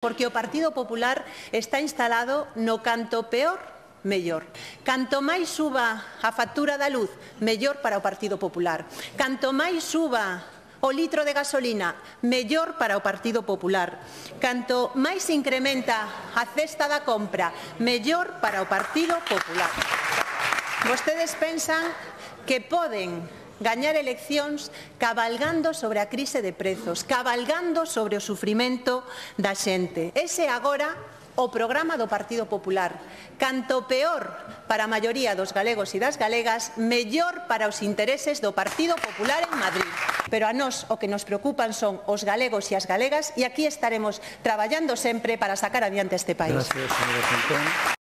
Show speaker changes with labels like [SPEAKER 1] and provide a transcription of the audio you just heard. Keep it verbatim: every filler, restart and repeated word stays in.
[SPEAKER 1] Porque o Partido Popular está instalado no canto peor, mellor. Canto máis suba a factura da luz, mellor para o Partido Popular. Canto máis suba o litro de gasolina, mellor para o Partido Popular. Canto máis incrementa a cesta da compra, mellor para o Partido Popular. Vostedes pensan que poden gañar eleccións cabalgando sobre a crise de prezos, cabalgando sobre o sufrimento da xente. Ese agora o programa do Partido Popular. Canto peor para a maioría dos galegos e das galegas, mellor para os intereses do Partido Popular en Madrid. Pero a nós o que nos preocupan son os galegos e as galegas e aquí estaremos traballando sempre para sacar adiante este país.
[SPEAKER 2] Gracias, señora Centón.